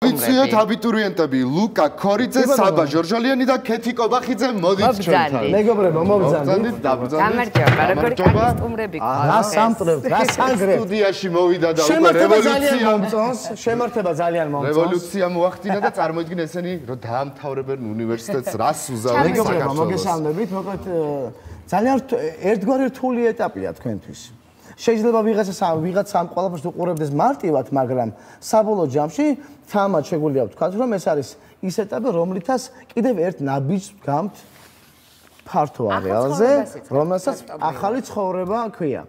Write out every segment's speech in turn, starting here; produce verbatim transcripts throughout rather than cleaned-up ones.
ვიციათ აბიტურიენტები ლუკა ქორიძე, საბა ჟორჟოლიანი და ქეთი კობახიძე მოდით ჩვენთან. მეგობრებო, მომბრძანდით. გამარჯობა, როგორი კარგი სტუმრები გყავთ. რა სამტრევთ, რა სანგრევთ. სტუდიაში მოვიდა და უკვე რევოლუცია მომწონს, შემართება ძალიან მომწონს. რევოლუცია მოახდინა და წარმოიდგინე ესენი რომ დაამთავრებენ უნივერსიტეტს, რას უზავენ მეგობრებო, საქართველოს. მოგესალმებით, მოკლედ ძალიან ერთგვარი რთული ეტაპია თქვენთვის. შეიძლება ვიღაცა ვიღაცამ ყველაფერს უყურებდეს მარტივად, მაგრამ საბოლოო ჯამში თამად შეგვიძლია ვთქვათ, რომ ეს არის ის ეტაპი, რომლითაც კიდევ ერთ ნაბიჯს ვდგამთ ფართო არეალზე, რომელსაც ახალი ცხოვრება ქვია.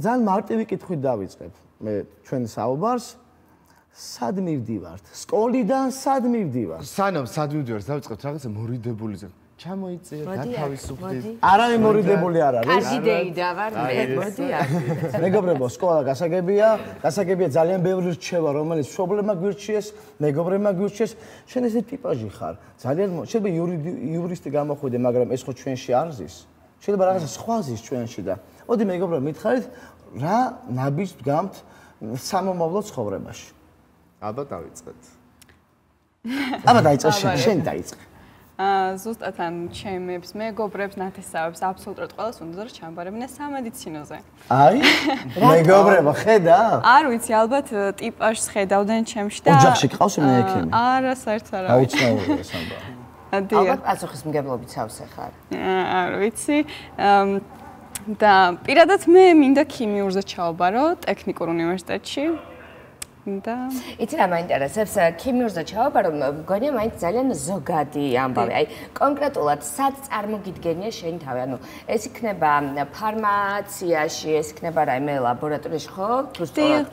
ძალიან მარტივი კითხვით დავიწყებ მე ჩვენ საუბარს. სად მივდივართ? სკოლიდან სად მივდივართ? სანამ სად მივდივართ, დავიწყებთ რაღაცა მორიდებული ზე. ჩამოიწიეთ, გათავისუფლდით. არავინ მორიდებული არ არის. კარგი დეიდა ვარ მე. მოდი არ. მეგობრებო, სკოლა გასაგებია, გასაგებია ძალიან ბევრი რჩევა, რომელიც მშობლებმა გვირჩიეს, მეგობრებმა გვირჩიეს. შენ ესე ტიპაჟი ხარ. ძალიან შეიძლება იურისტი გამოხვიდე, მაგრამ ეს ხო ჩვენში არ ზის. შეიძლება რაღაცა სხვა ზის ჩვენში და. მოდი მეგობრებო, მითხარით, რა ნაბიჯს ვდგამთ სამომავლო ცხოვრებაში? აბა დავიწყეთ. აბა დაიწყე შენ, შენ დაიწყე. აა ზუსტად ან ჩემებს, მეგობრებს, ნათესავებს, აბსოლუტურად ყველას უნდა რომ ჩამბარებინე სამედიცინოზე. აი, მეგობრებო, ხედა? არ ვიცი, ალბათ ტიპაჟს ხედავდნენ ჩემში და ოჯახში ყავს მე ექიმი. არა, საერთოდ არა. აუცილებლია ეს ამბავი. ალბათ პასუხისმგებლობით სავსე ხარ. არ ვიცი. და პირადად მე მინდა ქიმიურზე ჩავაბარო ტექნიკურ უნივერსიტეტში. და იცი რა მაინტერესებს ქიმიურზე ჩავაბარო მგონია მაინც ძალიან ზოგადი ამბავი აი კონკრეტულად სად წარმოგიდგენია შენი თავი ანუ ეს იქნება ფარმაციაში ეს იქნება რაიმე ლაბორატორიაში ხო თუ სწორად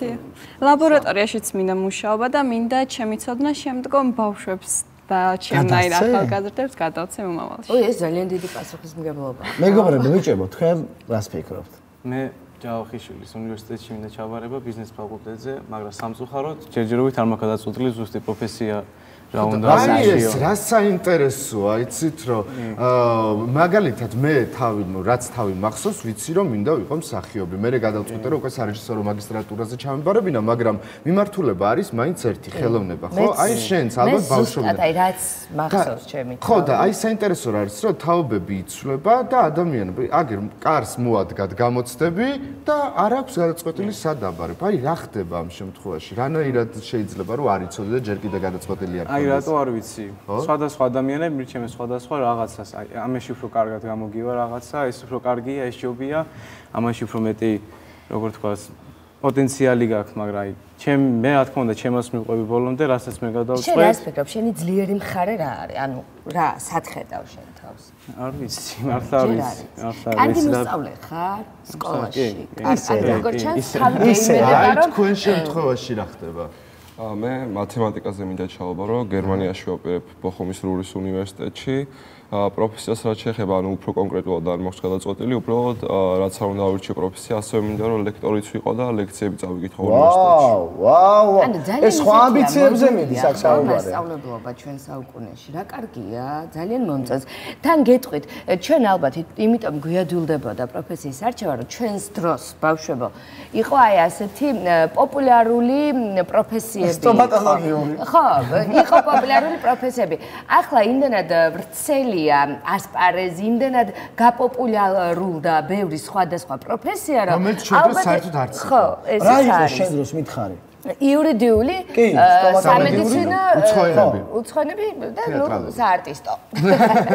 ლაბორატორიაშიც მინდა მუშაობა და მინდა ჩემიცოდნა შემდგომ ბავშვებს და ჩემნაირ ახალგაზრდებს გადავცე მომავალში ой ეს ძალიან დიდი პასუხისმგებლობაა მეგობრებო ვიჭებო თქვენ რას ფიქრობთ მე ჯავახიშვილის უნივერსიტეტში მინდა ჩავარება ბიზნეს ფაკულტეტზე, მაგრამ სამწუხაროდ ჯერჯერობით არ მაქვს გადაწყვეტილი ზუსტი პროფესია რა უნდა აი ეს რა საინტერესოა, იცით რომ მაგალითად მე თავი რაც თავი მახსოვს, ვიცი რომ მინდა ვიყო მსახიობი. მე გადავწყვეტე რომ უკვე სარეჟისორო მაგისტრატურაზე ჩამებარებინა, მაგრამ მიმართულება არის მაინც ერთი ხელოვნება, ხო? აი შენც ალბათ ბავშვობიდან. აი რაც მახსოვს ჩემი. ხო და აი საინტერესო რა არის რომ თაობები იცვლება და ადამიანები აგერ კარს მოადგათ გამოცდები და არ აქვს გადაწყვეტილი სად აბარებ. აი რა ხდება ამ შემთხვევაში? რანაირად შეიძლება რომ არ იცოდე და ჯერ კიდე გადაწყვეტილი არ აი რატო არ ვიცი? სხვადასხვა ადამიანები მირჩემენ სხვადასხვა რაღაცას. აი ამაში უფრო კარგად გამოგივა რაღაცა, ეს უფრო კარგია, ეს ჯობია. ამაში უფრო მეტი, როგორ თქვა, პოტენციალი გაქვს, მაგრამ აი ჩემ მე რა თქმა უნდა ჩემას მიყვები ბოლომდე, რასაც მე გადავწყვეტ. შენ რას ფიქრობ? შენი ძლიერი მხარე რა არის? ანუ რა, სად ხედავ შენ თავს? არ ვიცი, მართლა არ ვიცი. მართლა არ კარგი ვიცი. მოსწავლე ხარ სკოლაში? ისე როგორ ჩანს თავი გეიმერია რომ თქვენ შემთხვევაში რა ხდება? მე მათემატიკაზე მინდა ჩავაბარო, გერმანიაში ვაპირებ ბოხუმის რურის უნივერსიტეტში. პროფესიას რაც შეეხება, ანუ უფრო კონკრეტულად არ მაქვს გადაწყვეტილი, უბრალოდ რაც არ უნდა ავირჩიო პროფესია, ასევე მინდა რომ ლექტორიც ვიყო და ლექციები წავიკითხო უნივერსიტეტში. ვაუ, ვაუ. ეს სხვა ამბიციებზე მიდის აქ საუბარი. მასწავლებლობა ჩვენ საუკუნეში რა კარგია, ძალიან მომწონს. თან გეტყვით, ჩვენ ალბათ იმიტომ გვიადვილდებოდა პროფესიის არჩევა, რომ ჩვენს დროს ბავშვებო იყო აი ასეთი პოპულარული პროფესიები. სტომატოლოგიური. ხო, იყო პოპულარული პროფესიები. ახლა იმდენად ვრცელი ასპარეზი იმდენად გაპოპულარულდა ბევრი სხვადასხვა პროფესია რომ რომელიც ჩვენ საერთოდ არც ხო ეს რა იყო შენ დროს მითხარი იურიდიული სამედიცინო უცხოენები უცხოენები და ნუ საარტისტო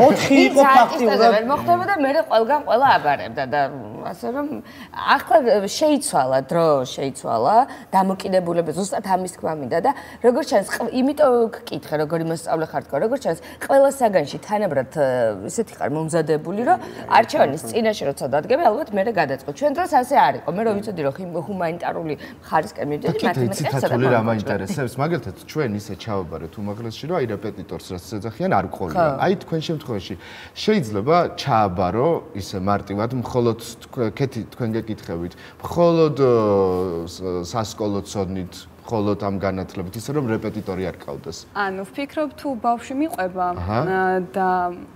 ოთხი იყო ფაქტიურად ვერ მოხდებოდა მე ყველგან ყველა აბარებდა და ასე რომ ახლა შეიცვალა დრო შეიცვალა დამოკიდებულება ზუსტად ამის თქმა მინდა და როგორ ჩანს იმიტომ გკითხე როგორი მოსწავლე ხარ თქო როგორ ჩანს ყველა საგანში თანაბრად ისეთი ხარ მომზადებული რომ არჩევანის წინაშე როცა დადგები ალბათ მე გადაწყო ჩვენ დროს ასე არ იყო მე რომ ვიცოდი რომ ჰუმანიტარული ხარისკენ მივდიოდი ციტატული რა მაინტერესებს მაგალითად ჩვენ ისე ჩავაბარეთ უმაღლესში რომ აი რეპეტიტორს რაც ეძახიან არ გყოლია აი თქვენ შემთხვევაში შეიძლება ჩააბარო ისე მარტივად მხოლოდ კეთი თქვენ გეკითხებით მხოლოდ სასკოლო ცოდნით მხოლოდ ამ განათლებით ისე რომ რეპეტიტორი არ ყავდეს ანუ ვფიქრობ თუ ბავშვი მიყვება და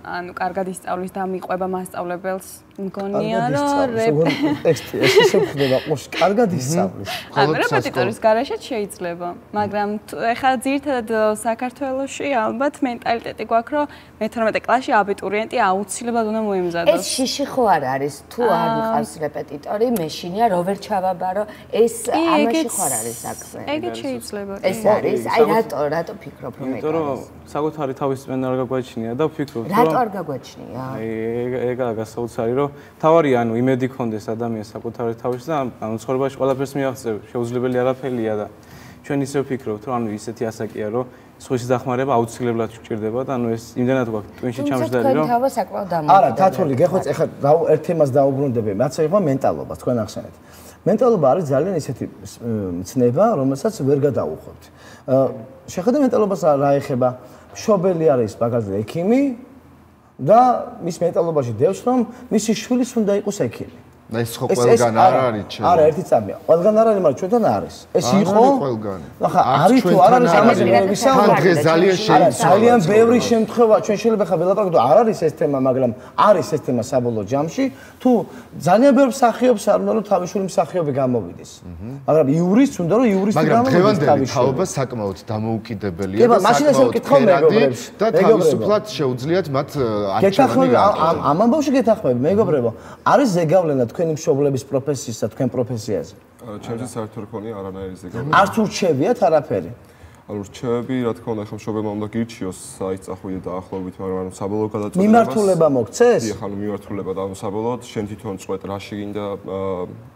ანუ კარგად ისწავლის და მიყვება მასწავლებელს მგონია რომ ტექსტი ეს ისე ხდება ყურში კარგად ისწავლის. ანუ რეპეტიტორის გარაშეც შეიძლება, მაგრამ ეხლა ძირითადად საქართველოში ალბათ მენტალიტეტი გვაქვს რომ მეთორმეტე კლასში აბიტურიენტი აუცილებლად უნდა მოემზადოს. ეს შიში ხო არ არის თუ არ მყავს რეპეტიტორი, მეშინია რო ვერ ჩავაბარო, ეს ამაში ხო არ არის საქმე. ეგეც შეიძლება. ეს არის, აი რატო რატო ფიქრობ რომ ეგ არის? იმიტომ რომ საკუთარი თავის წმენა არ გაგვაჩნია და ვფიქრობ რომ რატო არ გაგვაჩნია? აი ეგაა გასაოცარი რომ თავარი ანუ იმედი ქონდეს ადამიანს საკუთარი თავის და ანუ ცხოვრებაში ყველაფერს მიაღწევ, შეუძლებელი არაფერია და ჩვენ ისე ვფიქრობთ რომ ანუ ისეთი ასაკია რომ სხვის დახმარება აუცილებლად გვჭირდება და ანუ ეს იმდენად გვაქვს ტვინში ჩამჯდარი რომ თავა საკმაოდ დამოკიდებულია. არა, თათული, გეხოც ეხლა ერთ თემას დაუბრუნდები, რაც ეხება მენტალობა, თქვენ ახსენეთ. მენტალობა არის ძალიან ისეთი მცნება, რომელსაც ვერ გადაუხობთ. შეხედე მენტალობას რა ეხება? მშობელი არის მაგალითად ექიმი და მის მენტალობაში დევს რომ მისი შვილის უნდა იყოს ექიმი. და ეს ხო ყველგან არ არის ჩემ. არა, ერთი წამია. ყველგან არ არის, მაგრამ ჩვენთან არის. ეს იყო ყველგან. ახლა არის თუ არ არის ამაზე ვისაუბრებ. თან დღეს ძალიან შეიცვალა. ძალიან ბევრი შემთხვევა ჩვენ შეიძლება ხა ველაპარაკოთ, არ არის ეს თემა, მაგრამ არის ეს თემა საბოლოო ჯამში, თუ ძალიან ბევრ მსახიობს არ უნდა რომ თავისუფლი მსახიობი გამოვიდეს. მაგრამ იურისტს უნდა რომ იურისტი გამოვიდეს. მაგრამ დღევანდელი თაობა საკმაოდ დამოუკიდებელია და საკმაოდ და თავისუფლად შეუძლიათ მათ არჩევანი. ამ ამბავში გეთახმები, მეგობრებო, არის ზეგავლენა თქვენი მშობლების პროფესიისა თქვენ პროფესიაზე? ჩემთვის საერთოდ რქონია არანაირი ზეგავლენა. არც ურჩევიათ არაფერი. ანუ რჩევები, რა თქმა უნდა, ხომ მშობელმა უნდა გირჩიოს საით წახვიდე დაახლოებით, მაგრამ ანუ საბოლოო გადაწყვეტილებას მიმართულება მოგცეს? დიახ, ანუ მიმართულება და ანუ საბოლოოდ შენ თვითონ წყვეტ რაში გინდა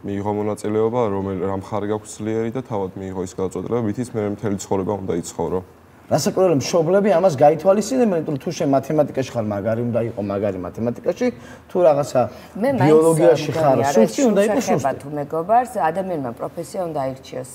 მიიღო მონაწილეობა, რომელ რა მხარე გაქვს ძლიერი და თავად მიიღო ის გადაწყვეტილება, მითიც მე მთელი ცხოვრება უნდა იცხოვრო. რასაკვირველია, მშობლები ამას გაითვალისწინებენ, იმიტომ რომ თუ შენ მათემატიკაში ხარ, მაგარი უნდა იყო მაგარი მათემატიკაში, თუ რაღაცა ბიოლოგიაში ხარ, სუსტი უნდა იყოს სუსტი. თუ მეგობარს, ადამიანმა პროფესია უნდა აირჩიოს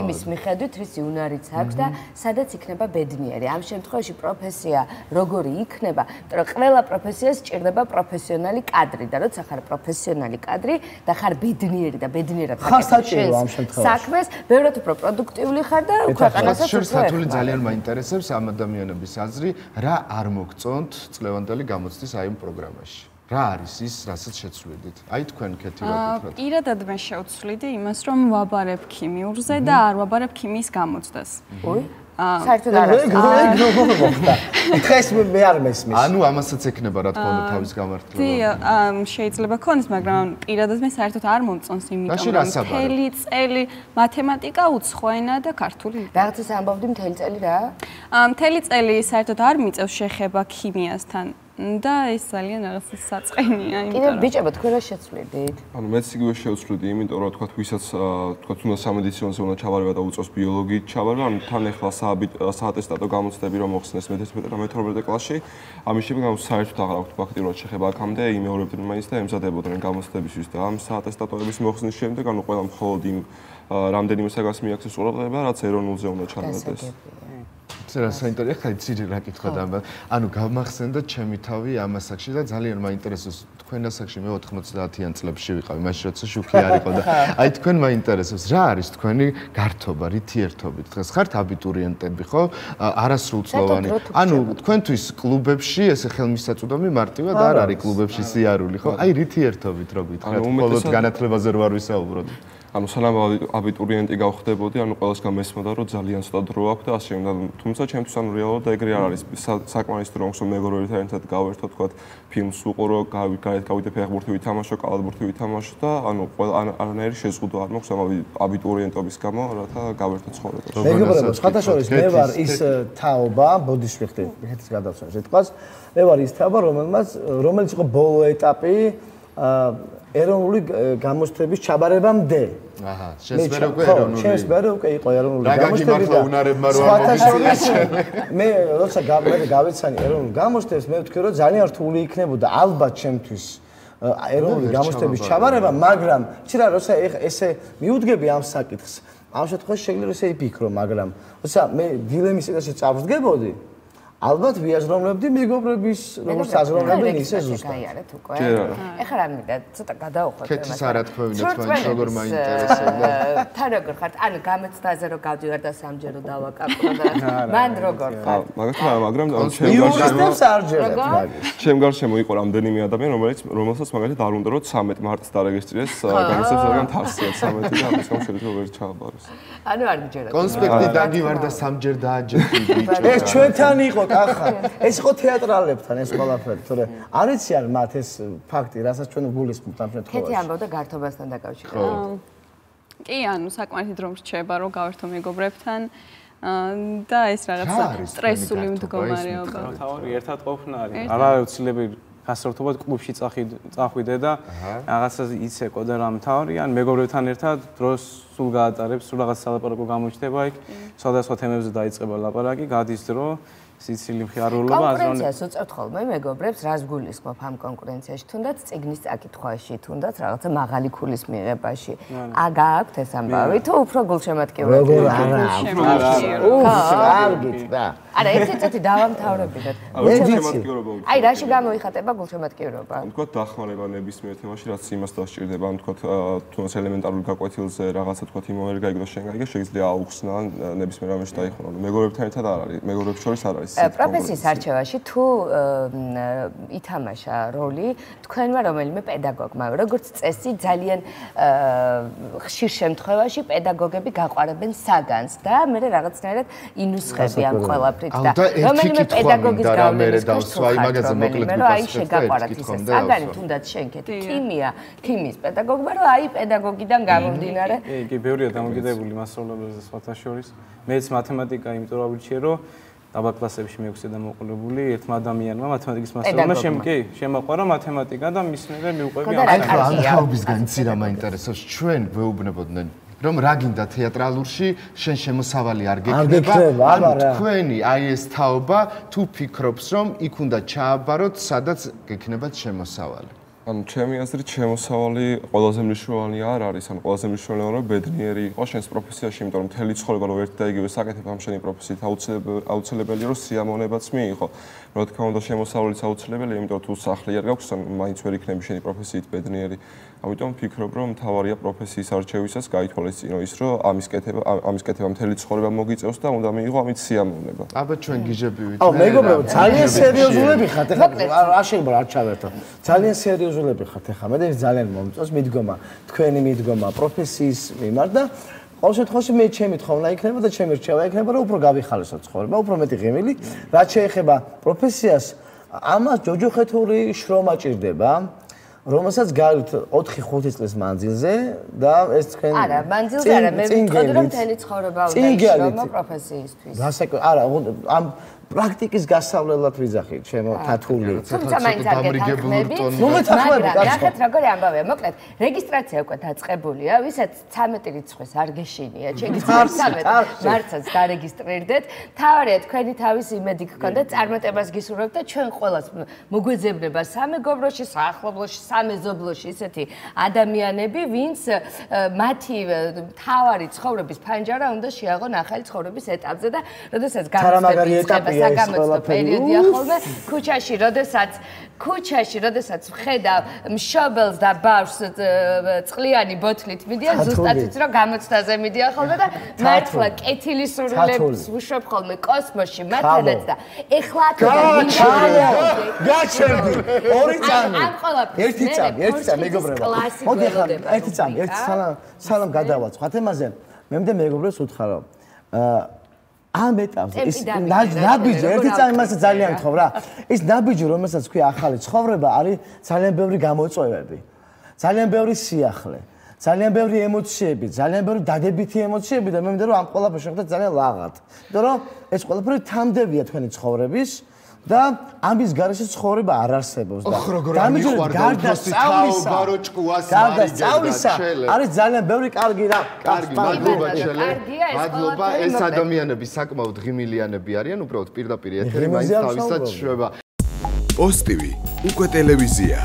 იმის მიხედვით, რისი უნარიც აქვს და სადაც იქნება ბედნიერი. ამ შემთხვევაში პროფესია როგორი იქნება, იმიტომ რომ ყველა პროფესიას სჭირდება პროფესიონალი კადრი და როცა ხარ პროფესიონალი კადრი და ხარ ბედნიერი და ბედნიერად ხარ საჭირო ამ შემთხვევაში. საქმეს ბევრად უფრო პროდუქტიული ხარ და ქვეყანასაც უფრო ძალიან მაინტერესებს ამ ადამიანების აზრი, რა არ მოგწონთ წლევანდელი გამოცდის აი ამ პროგრამაში. რა არის ის, რასაც შეცვლიდით? აი თქვენ კეთი რა გითხრათ? პირადად მე შევცვლიდი იმას, რომ ვაბარებ ქიმიურზე და არ ვაბარებ ქიმიის გამოცდას. ოი? საერთოდ არ არის. დღეს მე არ მესმის. ანუ ამასაც ექნება რა თქმა უნდა თავის გამართლება. დი, შეიძლება ქონდეს, მაგრამ პირადად მე საერთოდ არ მომწონს, იმიტომ რომ მთელი წელი მათემატიკა, უცხო ენა და ქართული. რაღაცას ამბობდი მთელი წელი რა? მთელი წელი საერთოდ არ მიწევს შეხება ქიმიასთან. და ეს ძალიან რაღაც საწყენია, იმიტომ რომ ბიჭებო თქვენ რა შეცვლიდით? ანუ მეც იგივე შევცვლიდი, იმიტომ რომ თქვა ვისაც თქვა უნდა სამედიცინოზე უნდა ჩავარება და უწევს ბიოლოგიით ჩავარება, ანუ თან ახლა საატესტატო გამოცდები რომ მოხსნეს მეთერთმეტე და მეთორმეტე კლასში, ამის შემდეგ ანუ საერთოდ აღარ აქვს ფაქტიურად შეხება აქამდე, იმეორებდნენ მაინც და ემზადებოდნენ გამოცდებისთვის და ამ საატესტატოების მოხსნის შემდეგ ანუ ყველა მხოლოდ იმ რამდენიმე საგას მიაქცეს ყურადღება, რაც ეროვნულზე უნდა ჩანადეს. რა საინტერესოა ხა იცი რა კითხვა და ანუ გამახსენდა ჩემი თავი ამ ასაკში და ძალიან მაინტერესებს თქვენ ასაკში მე ოთხმოცდაათიან წლებში ვიყავი მაშინ როცა შუქი არ იყო და აი თქვენ მაინტერესებს რა არის თქვენი გართობა რითი ერთობით დღეს ხართ აბიტურიენტები ხო არასრულწლოვანი ანუ თქვენთვის კლუბებში ესე ხელმისაწვდომი მარტივად არ არის კლუბებში სიარული ხო აი რითი ერთობით რო გითხრათ მხოლოდ განათლებაზე რო არ ვისაუბროთ ანუ სანამ აბიტურიენტი გავხდებოდი, ანუ ყველას გამესმოდა, რომ ძალიან ცოტა დრო აქვს და ასე უნდა. თუმცა ჩემთვის ანუ რეალურად ეგრე არ არის. საკმარისი დრო აქვს, რომ მეგობრებთან ერთად გავერთო, თქვა, ფილმს უყურო, გავიდე ფეხბურთი ვითამაშო, კალათბურთი ვითამაშო და ანუ ყველა არანაირი შეზღუდვა არ მაქვს ამ აბიტურიენტობის გამო, რათა გავერთო ცხოვრება. მეგობრებო, სხვადასხვა მე ვარ ის თაობა, ბოდიში ვიხდი, მიხეთის გადავცემ სიტყვას. მე ვარ ის თაობა, რომელმაც რომელიც იყო ბოლო ეტაპი ეროვნული გამოცდების ჩაბარებამდე. აჰა, შენს მე უკვე ეროვნული. შენს მე უკვე იყო ეროვნული გამოცდები. რა გაგიმართლა უნარებმა რომ ამოვიცე. მე როცა მე გავიცანი ეროვნულ გამოცდებს, მე ვთქვი რომ ძალიან რთული იქნებოდა ალბათ ჩემთვის ეროვნული გამოცდების ჩაბარება, მაგრამ იცი რა, როცა ესე მიუდგები ამ საკითხს, ამ შემთხვევაში შეიძლება ესე იფიქრო, მაგრამ როცა მე დილემის წინაშე წავსდგებოდი, ალბათ ვიაზროვნებდი მეგობრების როგორც აზროვნებენ ისე ზუსტად. გაიარეთ უკვე. ეხლა რა მინდა ცოტა გადავუხვევთ თქეთს არ ათქვევინოთ მაინც როგორ მაინტერესებდა. თან როგორ ხართ? ანუ გამოცდაზე რო გავდივარ და სამჯერო დავაკაკრო და მან როგორ ხართ? მაგრამ მაგრამ იურისტებს არ ჯერებთ მაგის. ჩემ გარშემო იყო რამდენიმე ადამიანი რომელიც რომელსაც მაგალითად არ უნდა რომ ცამეტ მარტს დარეგისტრირდეს განსაკუთრებით რადგან თასია ცამეტი და ამის გამო შეიძლება ვერ ჩააბაროს. ანუ არ მიჯერა. კონსპექტი დაგივარ და სამჯერ დააჯერდი ბიჭო. ეს ჩვენთან იყო კახა. ეს იყო თეატრალებთან ეს ყველაფერი, თორე არ იციან მათ ეს ფაქტი, რასაც ჩვენ გულისხმობთ ამ შემთხვევაში. კეთი ამბობდა გართობასთან დაკავშირებით. კი, ანუ საკმაეთი დრო რჩება რომ გავერთო მეგობრებთან და ეს რაღაცა სტრესული მდგომარეობა. თავი ერთად ყოფნა არის. არ არის უცილებელი გასართობად კლუბში წახვიდე და რაღაცა იცეკო და რამ თავი ან მეგობრებთან ერთად დროს სულ გაატარებს, სულ რაღაც სალაპარაკო გამოჩნდება იქ, სხვადასხვა თემებზე დაიწყება ლაპარაკი, გადის დრო სიცილი მხიარულობა აზროვნე. კონკურენციას უწევთ ხოლმე მეგობრებს, რას გულისხმობ ამ კონკურენციაში, თუნდაც წიგნის წაკითხვაში, თუნდაც რაღაცა მაღალი ქულის მიღებაში. ა გააქვთ ეს ამბავი თუ უფრო გულშემატკივრად? როგორ არა, არ გიწდა. არა, ერთი წუთი დავამთავრებინოთ. გულშემატკივრობა. აი, რაში გამოიხატება გულშემატკივრობა? ან თქვა დახმარება ნებისმიერ თემაში, რაც იმას დასჭირდება, ან თქვა თუნდაც ელემენტარული გაკვეთილზე რაღაცა თქვა იმ მომერ გაიგო შენ გაიგე, შეიძლება აუხსნა ან ნებისმიერ რამეში დაიხმარო. მეგობრებთან ერთად არ არის, მეგობრებს შორის არ არის. პროფესიის არჩევაში თუ ითამაშა როლი თქვენმა რომელიმე პედაგოგმა, როგორც წესი ძალიან ხშირ შემთხვევაში პედაგოგები გაყვარებენ საგანს და მე რაღაცნაირად ინუსხები ამ ყველაფრით და რომელიმე პედაგოგის გავლენის ქვეშ მაგაზე მოკლედ გიყვარს. აი შეგაყვარათ ისე საგანი თუნდაც შენქეთ ქიმია, ქიმიის პედაგოგმა რომ აი პედაგოგიდან გამომდინარე. კი, ბევრია დამოკიდებული მასწავლებელზე სხვათა შორის. მეც მათემატიკა იმიტომ რომ ვირჩიე რომ დაბა კლასებში მეექვსე და მოყოლებული ერთმა ადამიანმა მათემატიკის მასწავლებელმა შემ კი შემოყვარა მათემატიკა და მის მერე მიუყვები ამ აი ხო ამ თაობისგან იცი რა მაინტერესებს ჩვენ ვეუბნებოდნენ რომ რა გინდა თეატრალურში შენ შემოსავალი არ გექნება ანუ თქვენი აი ეს თაობა თუ ფიქრობს რომ იქ უნდა ჩააბაროთ სადაც გექნებათ შემოსავალი ანუ ჩემი აზრით შემოსავალი ყველაზე მნიშვნელოვანი არ არის, ანუ ყველაზე მნიშვნელოვანია რომ ბედნიერი იყოს შენს პროფესიაში, იმიტომ რომ მთელი ცხოვრება რო ერთ და იგივე საკეთებ ამ შენი პროფესიით აუცილებელია რომ სიამოვნებაც მიიღო. რა თქმა უნდა შემოსავალიც აუცილებელია, იმიტომ რომ თუ სახლი არ გაქვს, ან მაინც ვერ იქნები შენი პროფესიით ბედნიერი. ამიტომ ვფიქრობ რომ მთავარია პროფესიის არჩევისას გაითვალისწინო ის რომ ამის კეთება ამის კეთება მთელი ცხოვრება მოგიწევს და უნდა მიიღო ამით სიამოვნება. აბა ჩვენ გიჟებივით. აუ მეგობრებო ძალიან სერიოზულები ხართ ეხლა არ შეიძლება არ ჩავერთო. ძალიან სერიოზულები ხართ ეხლა მე ძალიან მომწონს მიდგომა თქვენი მიდგომა პროფესიის მიმართ და ყოველ შემთხვევაში მე ჩემი თხოვნა იქნება და ჩემი რჩევა იქნება რომ უფრო გავიხალისო ცხოვრება, უფრო მეტი ღიმილი, რაც შეეხება პროფესიას ამას ჯოჯოხეთური შრომა ჭირდება. რომელსაც გაიგეთ ოთხი ხუთი წლის მანძილზე და ეს თქვენ არა მანძილზე არა მე ვიტყოდი რომ მთელი ცხოვრება უნდა შრომა პროფესიისთვის გასაკუთრებით არა ამ პრაქტიკის გასავლელად ვიძახი ჩემო თათული თუმცა მაინც არ გეთანხმები მაგრამ ნახეთ როგორი ამბავია მოკლედ რეგისტრაცია უკვე დაწყებულია ვისაც ცამეტი რიცხვის არ გეშინია შეგიძლიათ ცამეტი მარტსაც დარეგისტრირდეთ თავარია თქვენი თავის იმედი გქონდეთ წარმატებას გისურვებთ და ჩვენ ყველას მოგვეძებნება სამეგობროში საახლობლოში სამეზობლოში ისეთი ადამიანები ვინც მათი თავარი ცხოვრების ფანჯარა უნდა შეაღონ ახალი ცხოვრების ეტაპზე და როდესაც გამოსწრება საგამოცდო პერიოდია ხოლმე ქუჩაში, როდესაც ქუჩაში, როდესაც ვხედავ მშობელს და ბავშვს წყლიანი ბოთლით მიდიან, ზუსტად იცი რომ გამოცდაზე მიდიან ხოლმე და მართლა კეთილი სურვილებს ვუშვებ ხოლმე კოსმოსში, მათენაც და ეხლა გაჩერდი ორი წამი. ამ ყველაფერს ერთი წამი, ერთი წამი მეგობრებო. მოდი ახლა ერთი წამი, ერთი სალამ სალამ გადავაწყო. თემაზე მე მდე მეგობრებს უთხრა რომ ამ ეტაპზე ის ნაბიჯი ერთი წამი მასე ძალიან გთხოვ რა ის ნაბიჯი რომელსაც თქვი ახალი ცხოვრება არის ძალიან ბევრი გამოწვევები ძალიან ბევრი სიახლე ძალიან ბევრი ემოციები ძალიან ბევრი დადებითი ემოციები და მე მინდა რომ ამ ყველაფერს შევხვდეთ ძალიან ლაღად იმიტომ რომ ეს ყველაფერი თამდევია თქვენი ცხოვრების და ამის გარეშე ცხოვრება არ არსებობს და გარდა სწავლისა გარდა სწავლისა არის ძალიან ბევრი კარგი რა კარგი მადლობა შელე მადლობა ეს ადამიანები საკმაოდ ღიმილიანები არიან უბრალოდ პირდაპირ ეთერი მაინც თავისად შვება პოსტივი უკვე ტელევიზია